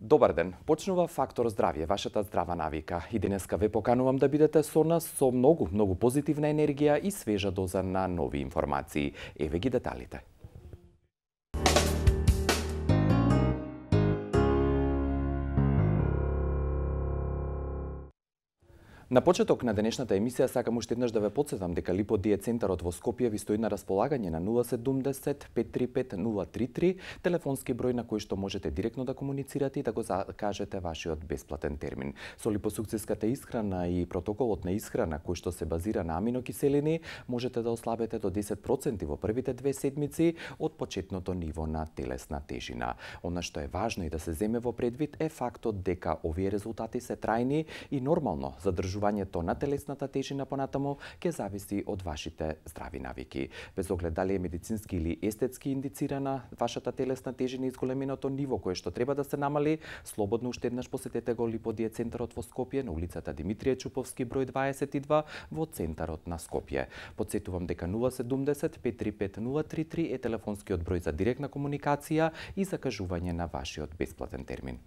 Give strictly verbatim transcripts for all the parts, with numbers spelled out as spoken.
Добар ден, почнува Фактор здравје, вашата здрава навика. И денеска ве поканувам да бидете со нас со многу, многу позитивна енергија и свежа доза на нови информации. Еве ги деталите. На почеток на денешната емисија сакам уште еднаш да ве потсетам дека Липодие центарот во Скопје ви стои на располагање на нула седумдесет пет три пет нула три три, телефонски број на кој што можете директно да комуницирате и да го закажете вашиот бесплатен термин. Со липосукциската исхрана и протоколот на исхрана кој што се базира на аминокиселини, можете да ослабете до десет проценти во првите две седмици од почетното ниво на телесна тежина. Она што е важно и да се земе во предвид е фактот дека овие резултати се трајни и нормално задржувањето на телесната тежина понатаму ќе зависи од вашите здрави навики. Без оглед дали е медицински или естетски индицирана вашата телесна тежина и зголеменото ниво кое што треба да се намали, слободно уште еднаш посетете го Липодие центарот во Скопје на улицата Димитрije Чуповски број дваесет и два во центарот на Скопје. Потсетувам дека нула седумдесет пет три пет нула три три е телефонскиот број за директна комуникација и закажување на вашиот бесплатен термин.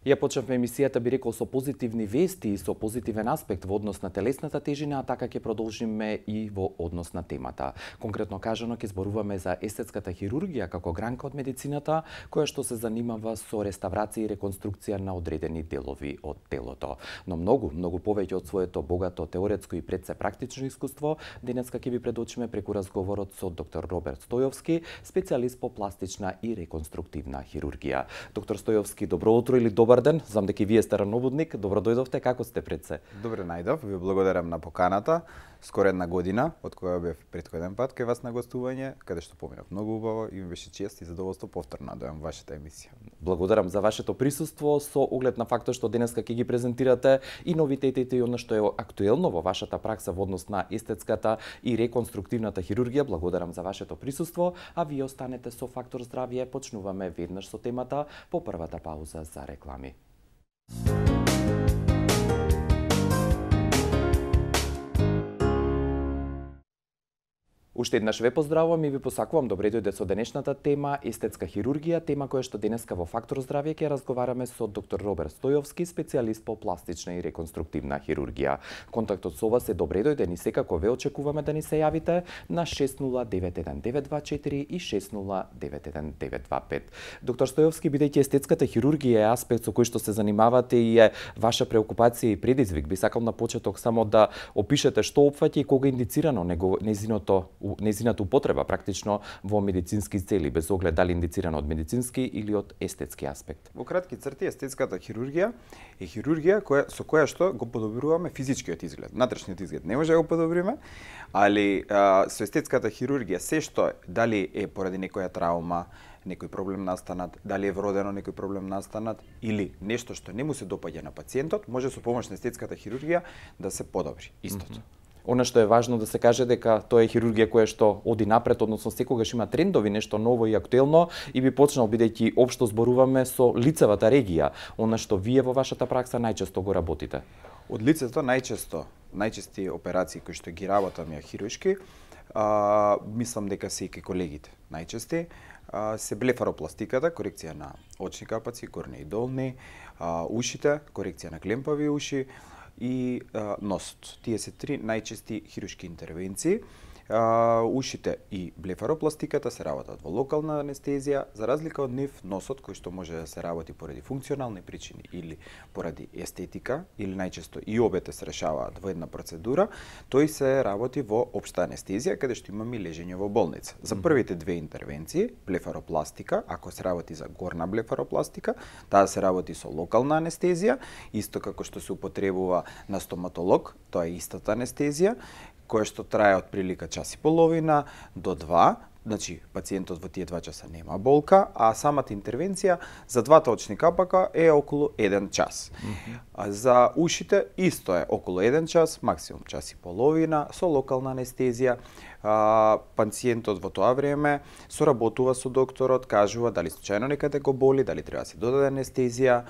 Ја почнавме емисијата, би рекол, со позитивни вести и со позитивен аспект во однос на телесната тежина, а така ќе продолжиме и во однос на темата. Конкретно кажано, ќе зборуваме за естетската хирургија како гранка од медицината, која што се занимава со реставрација и реконструкција на одредени делови од телото. Но многу, многу повеќе од своето богато теоретско и пред се практично искуство, денеска ќе ви предочиме преку разговорот со доктор Роберт Стојовски, специјалист по пластична и реконструктивна хирургија. Доктор Стојовски, добро утро или добро Добар ден, знам дека и вие сте рановодник. Добро дојдовте, како сте пред се? Добре најдов, ви благодарам на поканата. Скоро една година, од која бев претходен пат кај вас на гостување, каде што поминав многу убаво и ми беше чест и задоволство повторно да дојам вашата емисија. Благодарам за вашето присуство со оглед на фактот што денеска ќе ги презентирате и новитетите и она што е актуелно во вашата пракса во однос на естетската и реконструктивната хирургија. Благодарам за вашето присуство, а вие останете со Фактор здравје. Почнуваме веднаш со темата по првата пауза за реклами. Уште еднаш ве поздравувам и ви посакувам добре дојде со денешната тема естетска хирургија, тема која што денеска во Фактор здравје ќе разговараме со доктор Роберт Стојовски, специјалист по пластична и реконструктивна хирургија. Контактот со вас е добре дојден и секако ве очекуваме да ни се јавите на шест нула девет еден девет два четири и шест нула девет еден девет два пет. Доктор Стојовски, бидејќи естетската хирургија е аспект со кој што се занимавате и е ваша преокупација и предизвик, би сакал на почеток само да опишете што опфаќа и кога е индицирано незиното незината употреба практично во медицински цели, без оглед дали индицирано од медицински или од естетски аспект. Во кратки црти, естетската хирургија е хирургија која, со која што го подобруваме физичкиот изглед. Внатрешниот изглед не може да го подобриме, али а, со естетската хирургија се што дали е поради некоја траума, некој проблем настанат, дали е вродено некој проблем настанат или нешто што не му се допаѓа на пациентот, може со помош на естетската хирургија да се подобри истото. Mm-hmm. Она што е важно да се каже дека тоа е хирургија која што оди напред, односно секогаш има трендови, нешто ново и актуелно и би почнал бидејќи општо зборуваме со лицевата регија, она што вие во вашата пракса најчесто го работите. Од лицето најчесто, најчести операции кои што ги работам ја хируршки, а, мислам дека се и колегите најчести, а, се блефаропластиката, корекција на очни капаци, горни и долни, а, ушите, корекција на клемпави уши, и а, носот. Тие се три најчести хируршки интервенции. А, ушите и блефаропластиката се работат во локална анестезија, за разлика од нив носот кој што може да се работи поради функционални причини или поради естетика или најчесто и обете се решаваат во една процедура, тој се работи во општа анестезија каде што имаме лежење во болница. За првите две интервенции, блефаропластика, ако се работи за горна блефаропластика, таа се работи со локална анестезија, исто како што се употребува на стоматолог, тоа е истата анестезија, која што трае од прилика час и половина до два, значи пациентот во тие два часа нема болка, а самата интервенција за двата очни капака е околу еден час. Mm-hmm. А за ушите исто е околу еден час, максимум час и половина, со локална анестезија. А, пациентот во тоа време соработува со докторот, кажува дали случајно некаде го боли, дали треба да се додаде анестезија,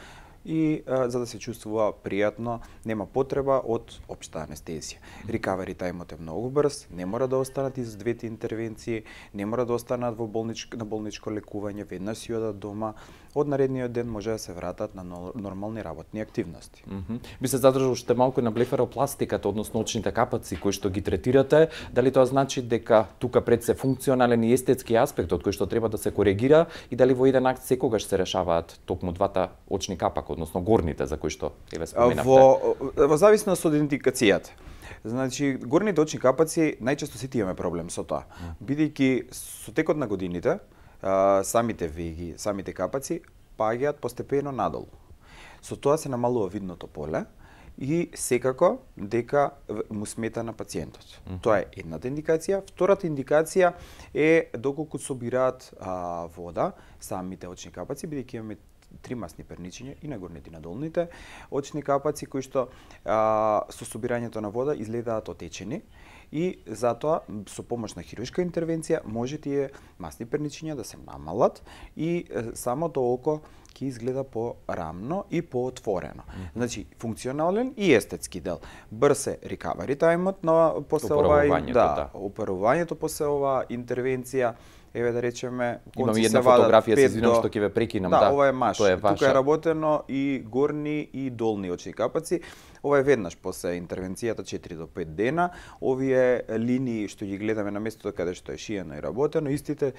и а, за да се чувствува пријатно, нема потреба од општа анестезија. Recovery тајмот е многу брз, не мора да останат из двете интервенции, не мора да останат во болничко, на болничко лекување, веднаш си одат дома, од наредниот ден може да се вратат на нормални работни активности. Mm -hmm. Би се задржал уште малку на блефаропластиката, односно очните капаци кои што ги третирате, дали тоа значи дека тука пред се функционален и естетски аспект од кој што треба да се коригира и дали во еден акт секогаш се решаваат токму двата очни капака, односно горните за кои што еве споменавте? Во, во зависност од индикацијата. Значи, горните очни капаци најчесто сите имаме проблем со тоа. Бидејќи со текот на годините, а, самите веги, самите капаци паѓаат постепено надолу. Со тоа се намалува видното поле и секако дека му смета на пациентот. Mm -hmm. Тоа е едната индикација. Втората индикација е доколку собираат а, вода самите очни капаци, бидејќи имаме три масни перничиња и на горните и на долните очни капаци кои што а, со собирањето на вода изгледаат отечени и затоа со помош на хируршка интервенција може тие масни перничиња да се намалат и самото око ќе изгледа порамно и поотворено. Mm -hmm. Значи функционален и естетски дел. Брз е recovery тајмот на после овај, да, да. Оперувањето после оваа интервенција. Еве да речеме, имам една фотографија, се извинам што ќе ве прекинам, да. Да, ова е маш. Тоа е Тука е работено и горни и долни очни капаци. Ова е веднаш после интервенцијата четири до пет дена. Овие линии што ги гледаме на местото каде што е шиено и работено, истите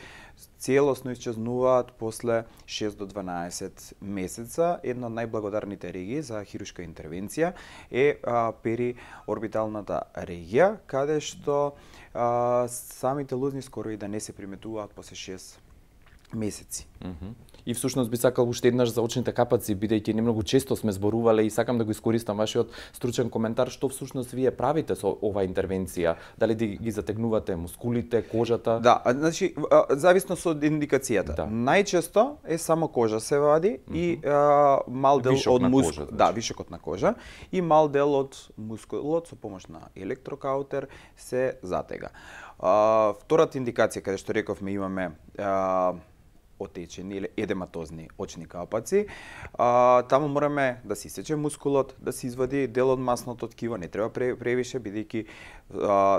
целосно исчезнуваат после шест до дванаесет месеца. Една од најблагодарните регии за хируршка интервенција е а, периорбиталната регија, каде што а, самите лузни скоро и да не се приметуваат после шест месеци. Mm -hmm. И всушност би сакал уште еднаш за очните капаци, бидејќи не многу често сме зборувале и сакам да го искористам вашиот стручен коментар, што всушност вие правите со оваа интервенција? Дали ги затегнувате мускулите, кожата? Да, значи зависно од индикацијата. Да. Најчесто е само кожа се вади mm -hmm. и а, мал дел вишок од мускул, значи. да, вишокот на кожа и мал дел од мускулот со помош на електрокаутер се затега. А, втората индикација каде што рековме имаме а, отечени или едематозни очни капаци. А, таму мораме да се исече мускулот, да се извади дел од масното ткиво, не треба превише, бидејќи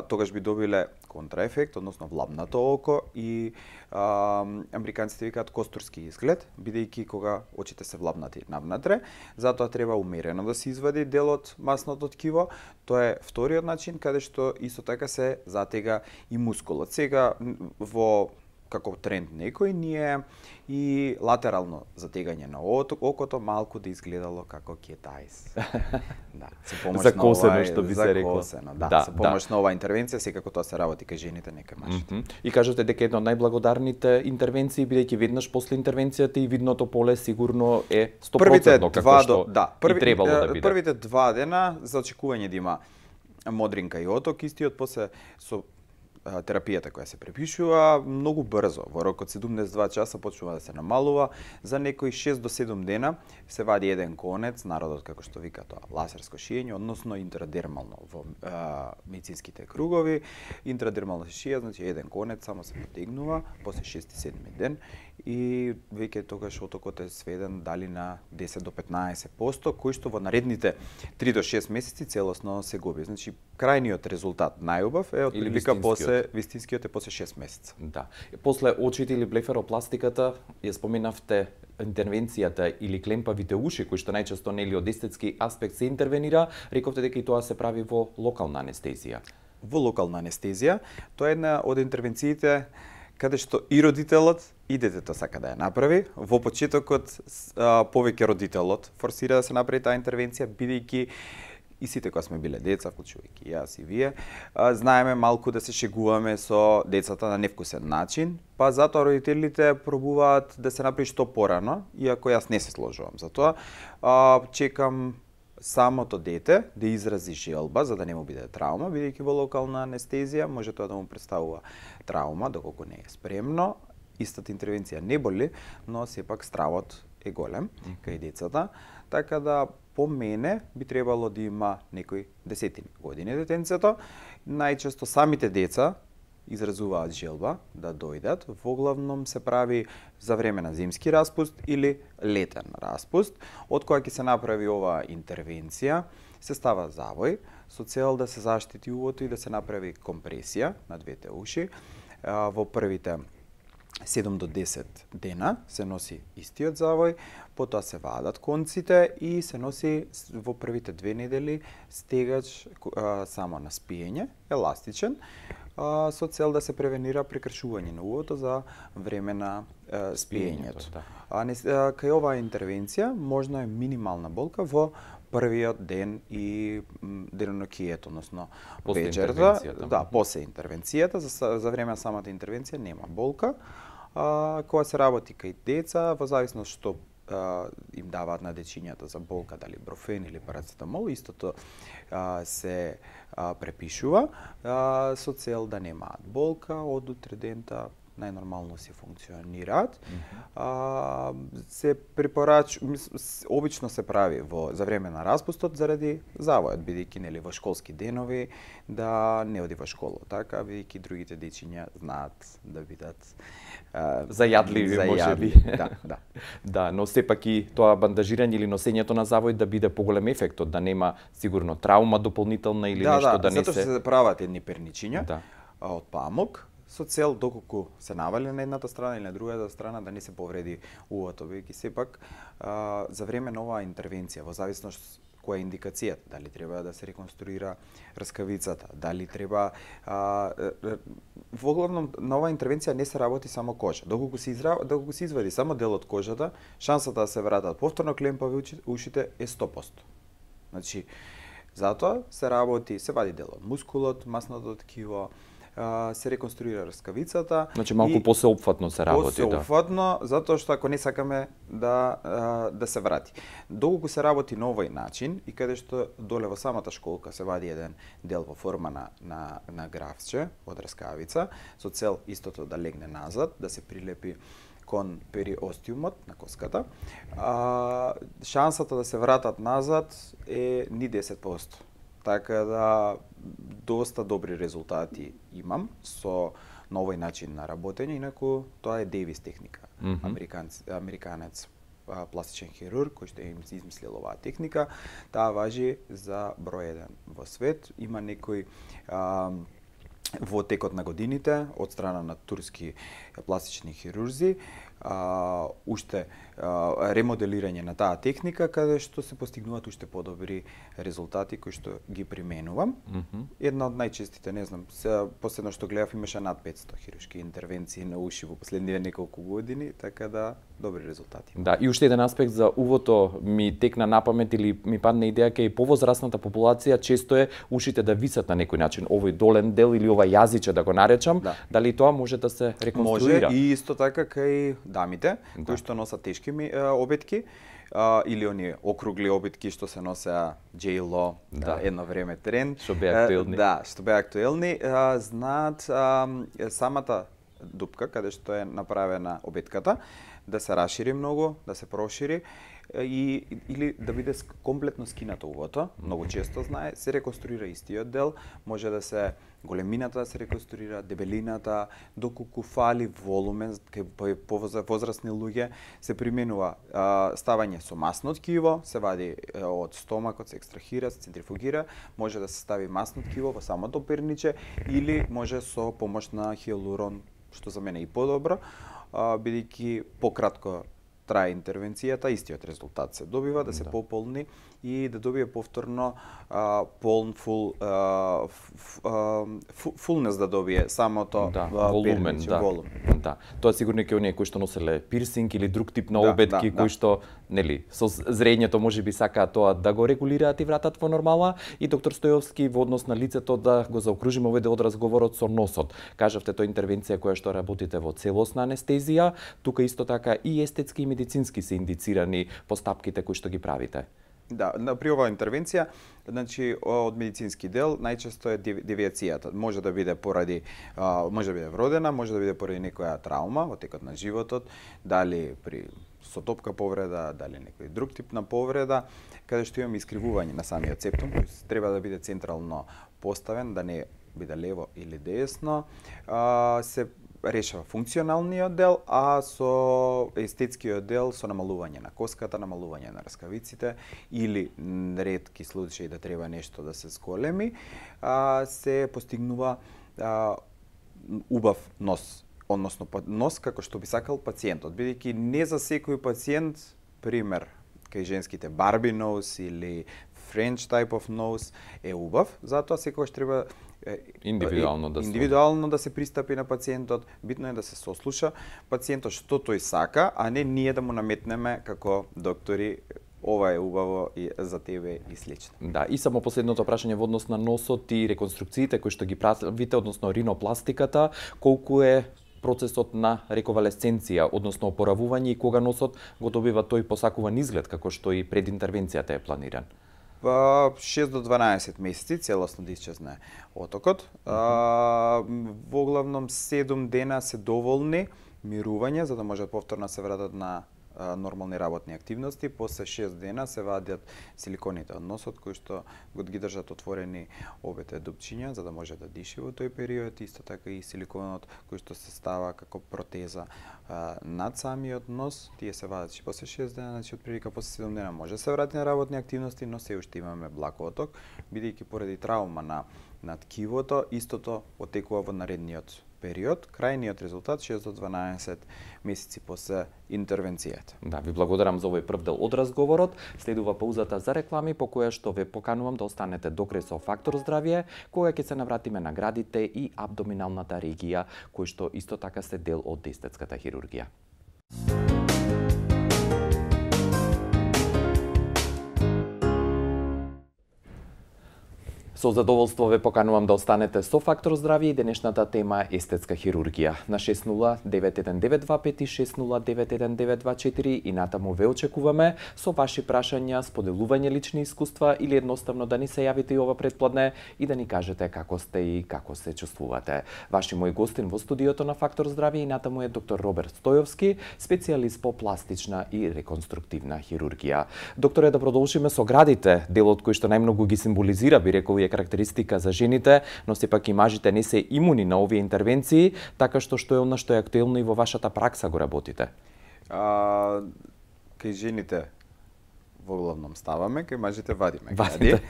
тогаш би добиле контраефект, односно влабнато око и а, американците викаат костурски изглед, бидејќи кога очите се влабнати навнатре, затоа треба умерено да се извади дел од масното ткиво. Тоа е вториот начин каде што исто така се затега и мускулот. Сега во како тренд некој ние и латерално затегање на окото малку да изгледало како кетајс. Да, со помош закосено, на ова, што би се рекло. Да, да, со помош да. на оваа интервенција секако тоа се работи кај жените, не кај мажите. Mm -hmm. И кажете дека една од најблагодарните интервенции, бидејќи веднаш после интервенцијата и видното поле сигурно е сто проценти како што да, први, и требало да биде. Првите два дена за очекување да има модринка и оток, истиот после со терапијата која се препишува многу брзо, во рок од седумдесет и два часа почнува да се намалува, за некои шест до седум дена се вади еден конец, народот како што вика тоа лазерско шиење, односно интрадермално во а, медицинските кругови, интрадермално се шија, значи еден конец само се потегнува после шести седми ден и веќе тогаш отокот е сведен дали на десет до петнаесет проценти, кој што во наредните три до шест месеци целосно се губи. Значи крајниот резултат најубав е од прилика после вистинскиот е после шест месеца. Да. После очите или блефаропластиката, ја споменавте интервенцијата или клемпавите уши, кои што најчесто нели од естетски аспект се интервенира, рековте дека и тоа се прави во локална анестезија. Во локална анестезија, тоа е една од интервенциите каде што и родителот и детето сака да ја направи. Во почетокот а, повеќе родителот форсира да се направи таа интервенција, бидејќи и сите кога сме биле деца, вклучувајќи јас и вие, а, знаеме малку да се шегуваме со децата на невкусен начин, па затоа родителите пробуваат да се направи што порано, иако јас не се сложувам за тоа. А, чекам самото дете да изрази желба за да не му биде траума, бидејќи во локална анестезија може тоа да му представува траума доколку не е спремно. Истата интервенција не боли, но сепак стравот е голем кај децата, така да по мене би требало да има некои десетини години детенцето. Најчесто самите деца изразуваат желба да дојдат, воглавном се прави за време на зимски распуст или летен распуст, од која ќе се направи оваа интервенција, се става завој со цел да се заштити увото и да се направи компресија на двете уши. Во првите седум до десет дена се носи истиот завој, потоа се вадат конците и се носи во првите две недели стегач а, само на спиење, еластичен, а, со цел да се превенира прекршување на увото за време на а, спиењето. Да. А, не, а, кај оваа интервенција можно е минимална болка во првиот ден и денонокието, односно вечерта, да, после интервенцијата, за, за време на самата интервенција нема болка. А, кога се работи кај деца, во зависност што а, им даваат на дечињата за болка, дали брофен или парацетамол, истото а, се а, препишува а, со цел да немаат болка од утре дента, најнормално си функционираат. Mm -hmm. а, се препорач, обично се прави во за време на распустот заради завојот, бидејќи нели во школски денови да не оди во школа, така бидејќи другите дечиња знаат да бидат а, зајадливи, можеби. Да, да. Да, но сепак и тоа бандажирање или носењето на завој да биде поголем ефектот, да нема сигурно траума дополнителна или да, нешто да, да не се. Да, затоа се прават едни перничиња да. од памук, со цел доколку се навали на едната страна или на другата страна да не се повреди увото, бидејќи сепак а, за време на оваа интервенција, во зависност која е индикацијата, дали треба да се реконструира рскавицата, дали треба а, воглавном на оваа интервенција не се работи само кожа. Доколку се изра... доколку се извади само дел од кожата, шансата да се вратат повторно клемпави ушите е сто проценти. Значи, затоа се работи, се вади дел од мускулот, масното ткиво, се реконструира рскавицата. Значи малку посеопфатно се работи, да. Посеопфатно, затоа што ако не сакаме да да се врати. Доколку се работи на овој начин и каде што доле во самата школка се вади еден дел во форма на на на графче од рскавица со цел истото да легне назад, да се прилепи кон периостиумот на коската, а, шансата да се вратат назад е ни десет проценти. Така да доста добри резултати имам со новој начин на работење, инаку тоа е Дейвис техника. Mm -hmm. Американец, американец а, пластичен хирург кој што им измислил оваа техника, таа важи за број еден во свет. Има некои а, во текот на годините од страна на турски пластични хирурзи а, уште а, ремоделирање на таа техника каде што се постигнуваат уште подобри резултати кои што ги применувам. Mm -hmm. Една од најчестите, не знам, се последно што гледав имаше над петсто хируршки интервенции на уши во последниве неколку години, така да добри резултати. Да, и уште еден аспект за увото ми текна на памет или ми падна идеја кај повозрасната популација често е ушите да висат на некој начин, овој долен дел или ова јазиче да го наречам, да. Дали тоа може да се реконструира? Може и исто така кај дамите, да. Кои што носат тешки обетки, а, или оние округли обетки што се носеа J-Lo, да. Едно време тренд. Што беа актуелни. Да, што беа актуелни. А, знаат а, самата дупка, каде што е направена обетката, да се расшири многу, да се прошири и или да биде комплетно скинато увото, многу често знае, се реконструира истиот дел, може да се големината да се реконструира, дебелината, доколку фали волумен, кај повозрасни луѓе се применува а, ставање со масно ткиво, се вади а, од стомакот, се екстрахира, се центрифугира, може да се стави масно ткиво во самото перниче или може со помош на хиалурон, што за мене е и подобро, бидејќи пократко трае интервенцијата, истиот резултат се добива, да се да. Пополни и да добие повторно а, полн фул а, фулнес да добие самото да, волумен, перниче, да. волумен. Да. Тоа сигурно е оние кои што носеле пирсинг или друг тип на да, обетки да, кои да. Што нели со зрењето можеби сакаат тоа да го регулираат и вратат во нормала. И доктор Стојовски во однос на лицето да го заокружиме овој дел од разговорот со носот. Кажавте тоа интервенција која што работите во целосна анестезија, тука исто така и естетски и медицински се индицирани постапките кои што ги правите. Да, при оваа интервенција, значи од медицински дел најчесто е девијацијата. Може да биде поради може да биде вродена, може да биде поради некоја траума во текот на животот, дали при сотопка повреда, дали некој друг тип на повреда, каде што имаме искривување на самиот септум, кој треба да биде централно поставен, да не биде лево или десно, а, се решава функционалниот дел, а со естетскиот дел со намалување на коската, намалување на раскавиците или ретки случаи да треба нешто да се зголеми, а, се постигнува а, убав нос, односно нос како што би сакал пациентот, бидејќи не за секој пациент, пример, кај женските Барби nose или French type of nose е убав, затоа секогаш треба индивидуално да индивидуално да се пристапи на пациентот, битно е да се сослуша пациентот што тој сака, а не ние да му наметнеме како доктори ова е убаво и за тебе и слично. Да, и само последното прашање во однос на носот и реконструкциите кои што ги правите, односно ринопластиката, колку е процесот на рековалесценција, односно опоравување и кога носот го добива тој посакуван изглед како што и пред интервенцијата е планиран? Па шест до дванаесет месеци целосно да исчезне отокот. А, во главном седум дена се доволни мирување за да можат повторно се вратат на а, нормални работни активности. После шест дена се вадат силиконите од носот кои што го ги држат отворени обете дупчиња за да може да диши во тој период. Исто така и силиконот кој што се става како протеза а, над самиот нос, тие се вадат и после шест дена, значи отприлика после седум дена може да се врати на работни активности, но се уште имаме благ оток, бидејќи поради травма на на ткивото, истото отекува во наредниот период. Крајниот резултат шест до дванаесет месеци после интервенцијата. Да, ви благодарам за овој прв дел од разговорот. Следува паузата за реклами по која што ве поканувам да останете до крај со Фактор здравје, кога ќе се навратиме на градите и абдоминалната регија, кои што исто така се дел од естетската хирургија. Со задоволство ве поканувам да останете со Фактор здравје и денешната тема е естетска хирургија. На шест нула девет еден девет два пет и шест нула девет еден девет два четири и натаму ве очекуваме со ваши прашања, споделување лични искуства или едноставно да ни се јавите и ова предпладне и да ни кажете како сте и како се чувствувате. Ваши мој гостин во студиото на Фактор здравје и натаму е доктор Роберт Стојовски, специјалист по пластична и реконструктивна хирургија. Докторе, да продолжиме со градите, делот кој што најмногу ги символизира, би рекол, е карактеристика за жените, но сепак и мажите не се имуни на овие интервенции, така што што е она што е актуелно и во вашата пракса го работите? А, кај жените во главном ставаме, кај мажите вадиме. Вадите.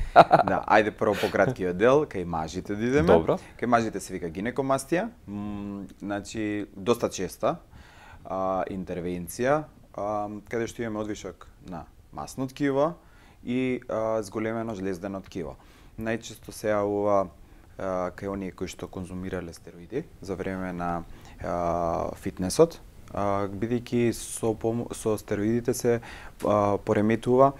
Да, ајде прво по краткиот дел, кај мажите да идеме. Добро. Кај мажите се вика гинекомастија, м, значи доста честа а, интервенција, а, каде што имаме одвишок на масно ткиво и а, зголемено жлездено ткиво. Најчесто се јавува кај оние кои што конзумирале стероиди за време на а, фитнесот, бидејќи со, со стероидите се а, пореметува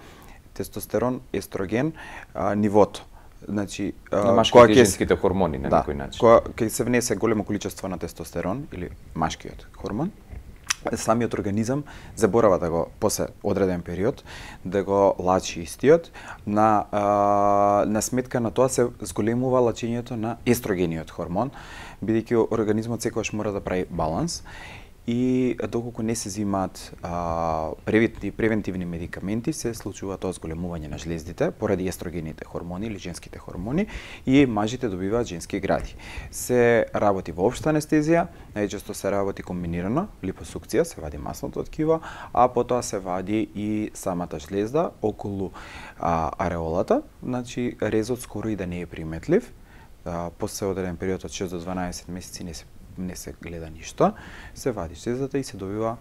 тестостерон, естроген, а, нивото. Значи, на машките и женските хормони на да, некој начин. Кога кај се внесе големо количество на тестостерон или машкиот хормон, самиот организам заборава да го после одреден период да го лачи истиот, на а, на сметка на тоа се зголемува лачењето на естрогениот хормон, бидејќи организмот секогаш мора да прави баланс и доколку не се земаат превентивни медикаменти, се случува тоа зголемување на жлездите поради естрогените хормони или женските хормони и мажите добиваат женски гради. Се работи во општа анестезија, најчесто се работи комбинирано, липосукција, се вади масното ткиво, а потоа се вади и самата жлезда околу а, ареолата, значи резот скоро и да не е приметлив. А, после одреден период од шест до дванаесет месеци не се не се гледа ништо, се вади жлездата и се добива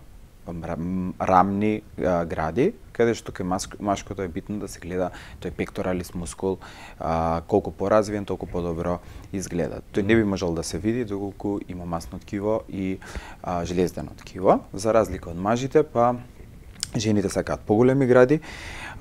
рамни а, гради, каде што кај машкото е битно да се гледа тој пекторалис мускул, а, колку поразвиен, толку подобро изгледа. Тој не би можел да се види доколку има масно ткиво и а, жлездено ткиво. За разлика од мажите, па жените сакаат поголеми гради.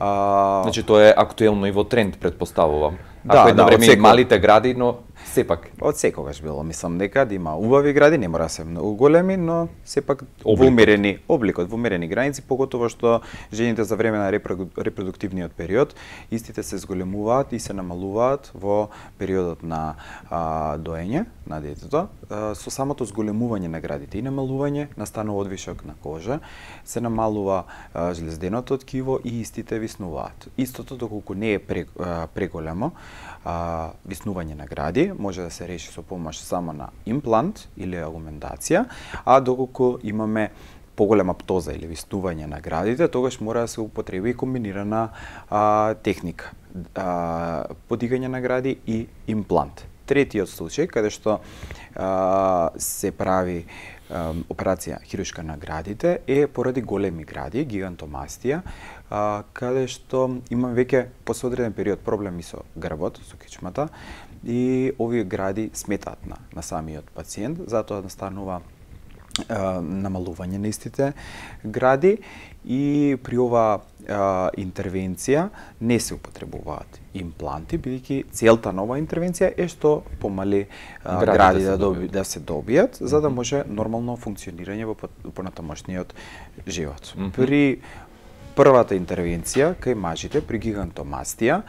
А... Значи тоа е актуелно и во тренд, предпоставувам. Да, Ако едно да, време секој... малите гради, но сепак. Од секогаш било, мислам дека да има убави гради, не мора се многу големи, но сепак во умерени обликот, во умерени граници, поготово што жените за време на репродуктивниот период истите се зголемуваат и се намалуваат во периодот на а, доење на детето. А, со самото зголемување на градите и намалување настанува одвишок на кожа, се намалува а, жлезденото ткиво и истите виснуваат. Истото доколку не е преголемо, а, виснување на гради, може да се реши со помош само на имплант или аугментација, а доколку имаме поголема птоза или виснување на градите, тогаш мора да се употреби и комбинирана а, техника. А, подигање на гради и имплант. Третиот случај, каде што а, се прави а, операција хируршка на градите, е поради големи гради, гигантомастија, а, каде што имам веќе после одреден период проблеми со грбот, со кичмата, и овие гради сметаат на, на самиот пациент, затоа настанува намалување на истите гради, и при ова а, интервенција не се употребуваат импланти, бидејќи целта на оваа интервенција е што помали а, гради, гради да, доби, да се добијат, за да може нормално функционирање во понатамошниот живот. Mm -hmm. При првата интервенција кај мажите при гигантомастија,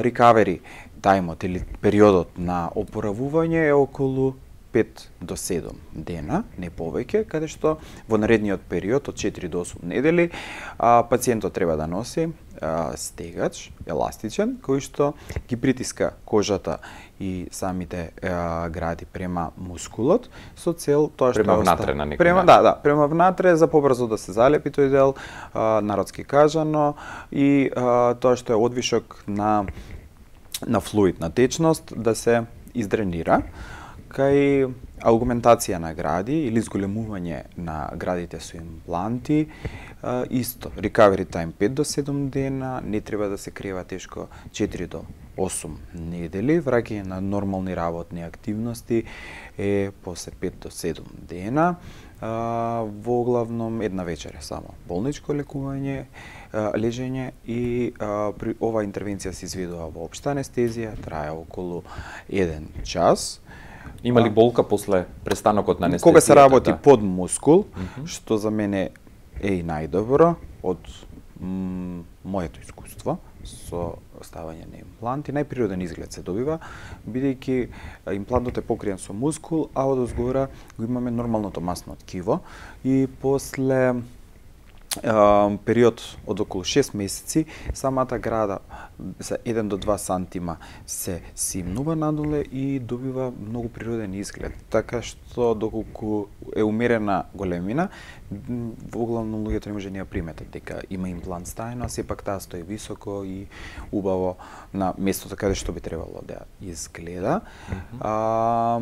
рекавери тајмот или периодот на опоравување е околу пет до седум дена, не повеќе, каде што во наредниот период од четири до осум недели а, пациентот треба да носи а, стегач еластичен кој што ги притиска кожата и самите а, гради према мускулот со цел тоа што према внатре на некој према, да, да, према внатре за побрзо да се залепи тој дел, а, народски кажано, и а, тоа што е одвишок на на флуид, на течност, да се издренира. Кај аугментација на гради или зголемување на градите со импланти, исто, recovery time пет до седум дена, не треба да се крива тешко четири до осум недели, враќање на нормални работни активности е после пет до седум дена, во главном една вечер само болничко лекување, лежење, и а, при оваа интервенција се изведува во општа анестезија, трае околу еден час. Има ли болка после престанокот на анестезијата? Кога се работи да? под мускул, mm -hmm. што за мене е и најдобро од моето искуство со ставање на импланти, најприроден изглед се добива, бидејќи имплантот е покриен со мускул, а од озгора го имаме нормалното масно ткиво, и после период од околу шест месеци, самата града за еден до два сантима се симнува надоле и добива многу природен изглед. Така што доколку е умерена големина, во главно луѓето не може да ја приметат дека има имплант ставено, а сепак таа стои високо и убаво на местото каде што би требало да изгледа. Mm -hmm. а,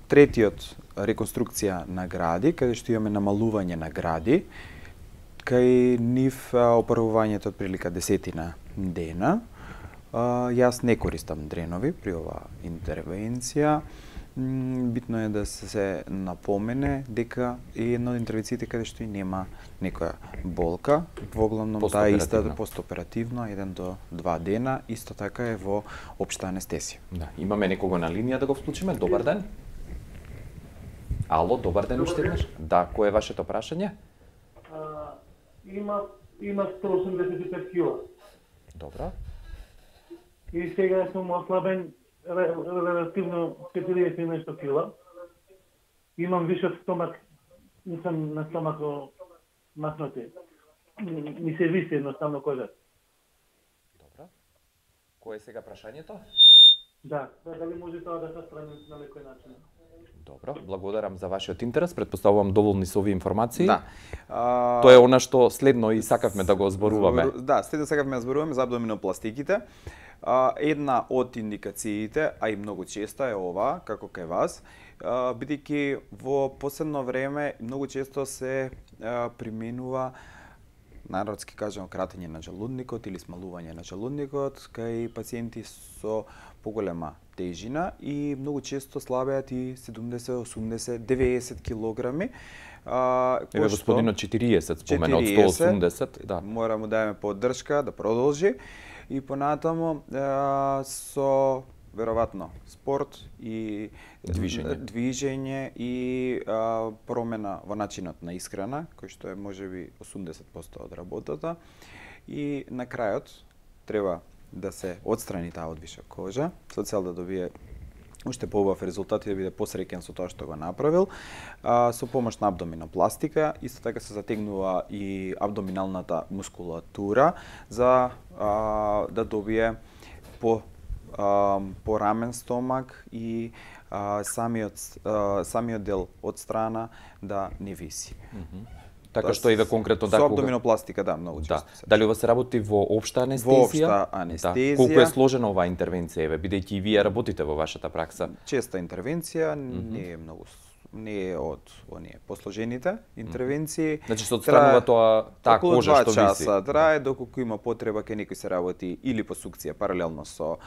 третиот, реконструкција на гради, каде што имаме намалување на гради, кај нив опарувањето од прилика десетина дена. Јас не користам дренови при оваа интервенција. Битно е да се напомене дека е една од интервенциите каде што и нема некоја болка, во главном таа иста постоперативно, еден до два дена, исто така е во општа анестезија. Да, имаме некого на линија да го вклучиме. Добар ден. Ало, добар ден уште еднаш. Да, кој е вашето прашање? Има, има сто осумдесет и пет кила. Добро. И сега сум ослабен релативно четириесет и нешто кила. Имам вишок стомак, не сум на стомако масноти. Ми се виси едноставно кожа. Добро. Кој е сега прашањето? Да, дали може тоа да се страни на некој начин? Добро, благодарам за вашиот интерес. Предпоставувам доволни со овие информации. Да. А... Тоа е она што следно и сакавме да го зборуваме. Да, следно сакавме да зборуваме за абдоминопластиките. А, една од индикациите, а и многу често е ова, како кај вас, бидејќи во последно време многу често се а, применува, народски кажано, кратење на желудникот или смалување на желудникот кај пациенти со поголема тежина и многу често слабеат и седумдесет, осумдесет, деветдесет килограми. А, Еве господинот четириесет спомена од сто осумдесет, да. Мора му дајме поддршка да продолжи и понатаму а, со веројатно спорт и движење, движење и а, промена во начинот на исхрана, кој што е можеби осумдесет проценти од работата, и на крајот треба да се отстрани таа одвиша кожа со цел да добие уште поубав резултат и да биде посреќен со тоа што го направил. А, со помош на абдоминопластика, исто така се затегнува и абдоминалната мускулатура за а, да добие по а, порамен стомак и а, самиот а, самиот дел од страна да не виси. Mm-hmm. Така што еве конкретно да со абдоминопластика, да, многу често. Да. Дали ова се работи во општа анестезија? Во општа анестезија. Да. Колку е сложена оваа интервенција, еве, бидејќи и вие работите во вашата пракса? Честа интервенција, mm-hmm. не е многу, не е од оние посложените интервенции. Mm-hmm. Значи се отстранува тоа таа кожа што виси. два часа трае, доколку има потреба кај некој се работи или по сукција паралелно со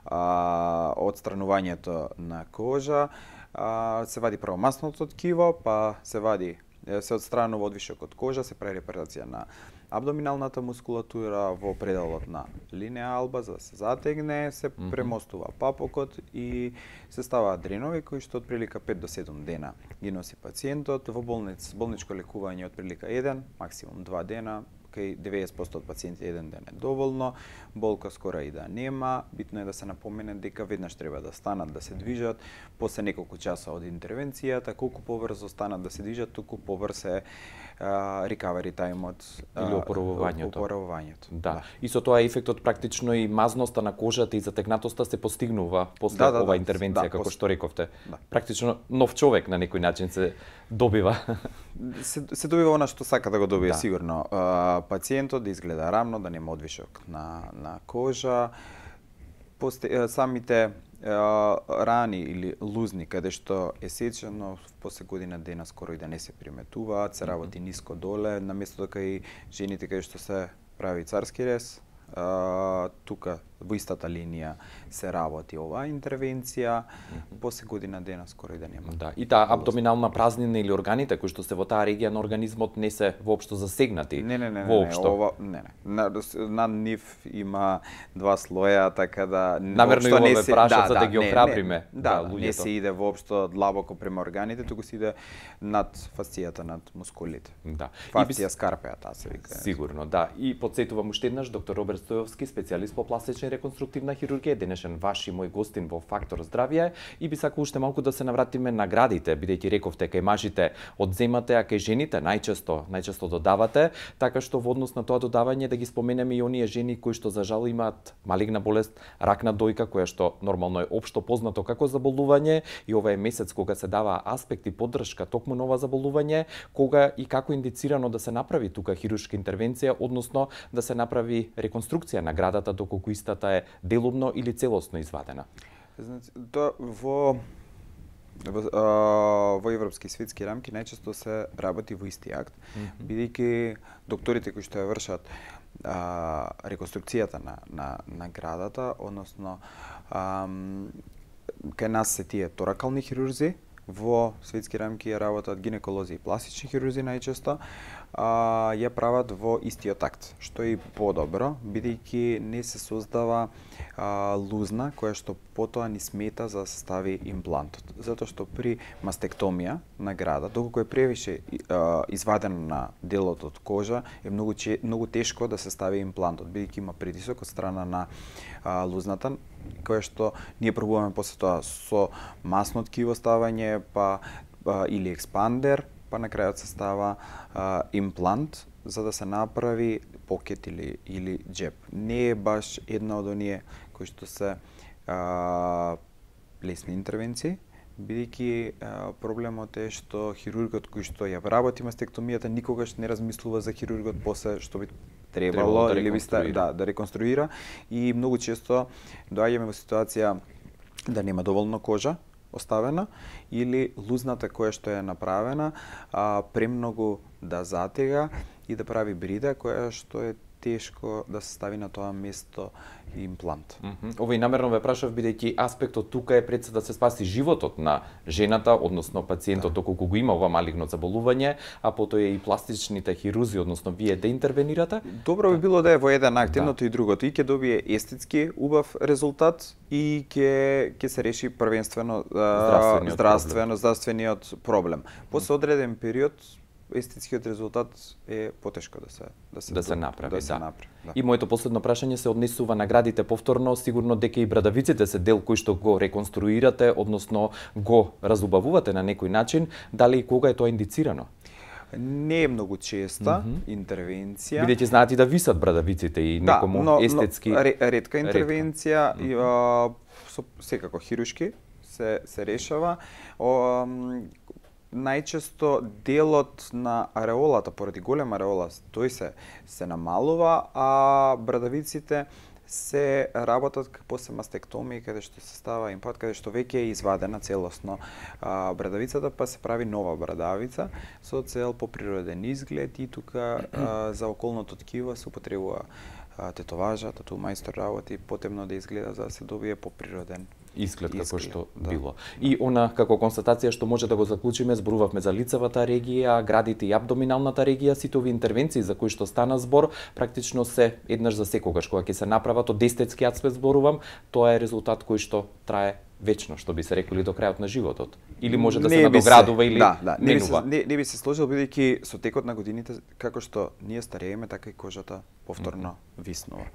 а, отстранувањето на кожа, а, се вади прво масното ткиво, па се вади се отстранува одвишок од кожа, се прави репарација на абдоминалната мускулатура во пределот на линеја алба за да се затегне, се премостува папокот и се ставаат дренови кои што од прилика пет до седум дена ги носи пациентот. Во болниц, болничко лекување од прилика еден, максимум два дена, кај деветдесет проценти од пациенти еден ден е доволно, болка скора и да нема. Битно е да се напомене дека веднаш треба да станат да се движат, после неколку часа од интервенцијата, колку побрзо станат да се движат, толку побрз е recovery таймот или опоравувањето. опоравувањето. Да. да. И со тоа ефектот практично и мазноста на кожата и затегнатоста се постигнува после да, да, оваа да, интервенција, да, како пос... што рековте. Да. Практично нов човек на некој начин се добива. Се, се добива она што сака да го добие, да. Сигурно. А, пациентот да изгледа рамно, да нема одвишок на, на кожа. Посте, самите а, рани или лузни, каде што е сечено, после година дена скоро и да не се приметуваат, се работи ниско доле, наместо дека и жените каде што се прави царски рез, а, тука во истата линија се работи оваа интервенција, mm-hmm. после година дена скоро и да нема. Да, и таа абдоминална празнина или органите кои што се во таа регија на организмот не се воопшто засегнати. Не, не, не, воопшто. не, ова, не, не. На, на нив има два слоја, така да намерно и не ве се прашат да, за да, да ги не, охрабриме. Не, да, да, да не се иде воопшто длабоко према органите, туку се иде над фасцијата, над мускулите. Да. Фасција бис... скарпеа, таа се вика. Сигурно, да. И потсетувам уште еднаш доктор Роберт Стојовски, специјалист по пластична и реконструктивна хирургија, денешен ваш и мој гостин во Фактор здравје, и би сакал уште малку да се навратиме на наградите, бидејќи рековте кај мажите одземате, а кај жените најчесто, најчесто додавате, така што во однос на тоа додавање да ги споменеме и оние жени кои што за жал имаат малигна болест, рак на дојка, која што нормално е општо познато како заболување, и ова е месец кога се дава аспект и поддршка токму на ова заболување, кога и како индицирано да се направи тука хируршка интервенција, односно да се направи реконструкција на градата доколку истата е делумно или целосно извадена. Значи, тоа во во, а, во европски светски рамки најчесто се работи во исти акт, mm-hmm. бидејќи докторите кои што ја вршат а, реконструкцијата на, на, на градата, односно а, кај нас се тие торакални хирурзи, во светски рамки ја работат гинеколози и пластични хирурзи најчесто, а, ја прават во истиот акт, што е и подобро, бидејќи не се создава а, лузна која што потоа ни смета за да се стави имплантот. Затоа што при мастектомија на града, доколку е превише а, изваден на делот од кожа, е многу, че, многу тешко да се стави имплантот, бидејќи има притисок од страна на а, лузната, која што ние пробуваме после тоа со масно ткиво ставање, па, па или експандер, па на крајот се става а, имплант за да се направи покет или или џеб. Не е баш една од оние кои што се а, лесни интервенции, бидејќи проблемот е што хирургот кој што ја работи мастектомијата никогаш не размислува за хирургот после што би требало да или би ста, да, да реконструира, и многу често доаѓаме во ситуација да нема доволно кожа оставена или лузната која што е направена а, премногу да затега и да прави брида која што е тешко да се стави на тоа место имплант. Mm -hmm. Ова и намерно ве прашав бидејќи аспектот тука е пред се да се спаси животот на жената, односно пациентот, да. Доколку го има ова малигно заболување, а потоа и пластичните хирузи, односно вие да интервенирате. Добро би било да е во еден акт, да. Едното и другото, и ќе добие естетски убав резултат и ќе ќе се реши првенствено здравствениот, здравствено, проблем. здравствениот проблем. После одреден период естетскиот резултат е потешко да се да се да се направи, да. Се да. направи, да. И моето последно прашање се однесува на градите повторно, сигурно дека и брадавиците се дел кој што го реконструирате, односно го разубавувате на некој начин, дали и кога е тоа индицирано? Не е многу честа Мгм. интервенција. Бидејќи знаат и да висат брадавиците и Да, некому но, естетски. но ре- ретка интервенција Ретка. и а, со, секако хирушки се се решава. О, м, најчесто делот на ареолата, поради голема ареола, тој се се намалува, а брадавиците се работат после мастектомија, каде што се става имплант, каде што веќе е извадена целосно а, брадавицата, па се прави нова брадавица со цел поприроден изглед и тука а, за околното ткиво се употребува а, тетоважа, тату мајстор работи потемно да изгледа за да се добие поприроден Изглед како изглед, што да. било. И она како констатација што може да го заклучиме, зборувавме за лицевата регија, градите и абдоминалната регија, сите овие интервенции за кои што стана збор, практично се еднаш за секогаш кога ќе се направат од естетски аспект зборувам, тоа е резултат кој што трае вечно, што би се реколи до крајот на животот. Или може да се Не би надоградува или да, да, не би се, менува. не, не би се сложил бидејќи со текот на годините како што ние старееме, така и кожата повторно виснува.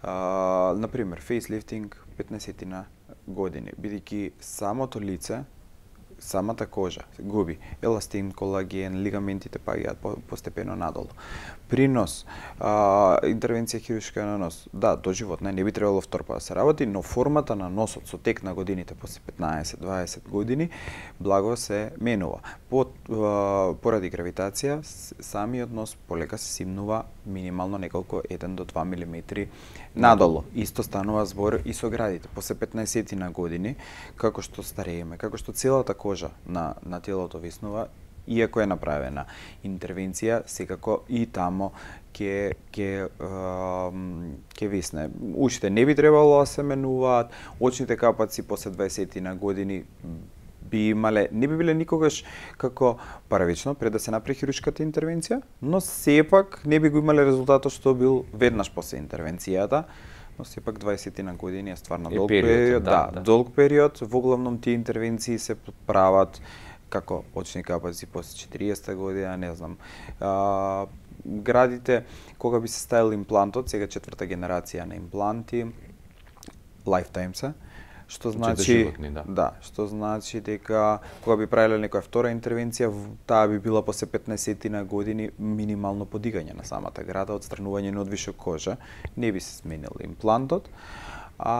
А, на пример, фейслифтинг петнаесет години, бидејќи самото лице, самата кожа се губи еластин, колаген, лигаментите паѓаат по, постепено надолу. Принос, а, интервенција хируршка на нос, да, до живот не, не би требало втор пат да се работи, но формата на носот со тек на годините, после петнаесет дваесет години, благо се менува. По, а, поради гравитација, с- самиот нос полека се симнува минимално неколку еден до два милиметри надолу. Исто станува збор и со градите. После петнаесет на години, како што старееме, како што целата кожа на, на телото виснува, иако е направена интервенција, секако и тамо ќе ќе ем, ќе висне. Ушите не би требало да се менуваат, очните капаци после дваесет на години би имале, не би биле никогаш како првично пред да се направи хируршката интервенција, но сепак не би го имале резултатот што бил веднаш после интервенцијата, но сепак дваесет на години е стварно Е долг период, период, да, да, да. долг период. Во главном тие интервенции се прават како очни капаци после четириесетта година, не знам. А, градите кога би се ставил имплантот, сега четврта генерација на импланти, lifetime се, што значи доживотни, да. да, што значи дека кога би правиле некоја втора интервенција, в- таа би била после петнаесет на години минимално подигање на самата града, отстранување на одвишок кожа, не би се сменил имплантот, а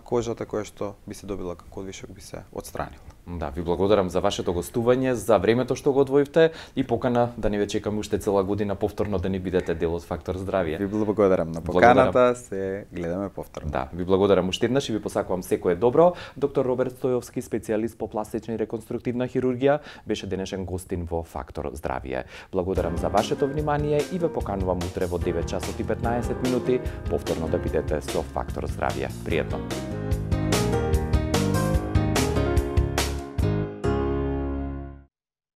кожата која што би се добила како одвишок би се отстранила. Да, ви благодарам за вашето гостување, за времето што го одвоивте и покана да не ве чекаме уште цела година повторно да ни бидете дел од Фактор здравје. Ви благодарам на Благодарам. поканата, се гледаме повторно. Да, ви благодарам уште еднаш и ви посакувам секое добро. Доктор Роберт Стојовски, специјалист по пластична и реконструктивна хирургија, беше денешен гостин во Фактор здравје. Благодарам за вашето внимание и ве поканувам утре во девет часот и петнаесет минути повторно да бидете со Фактор здравје. Пријатно.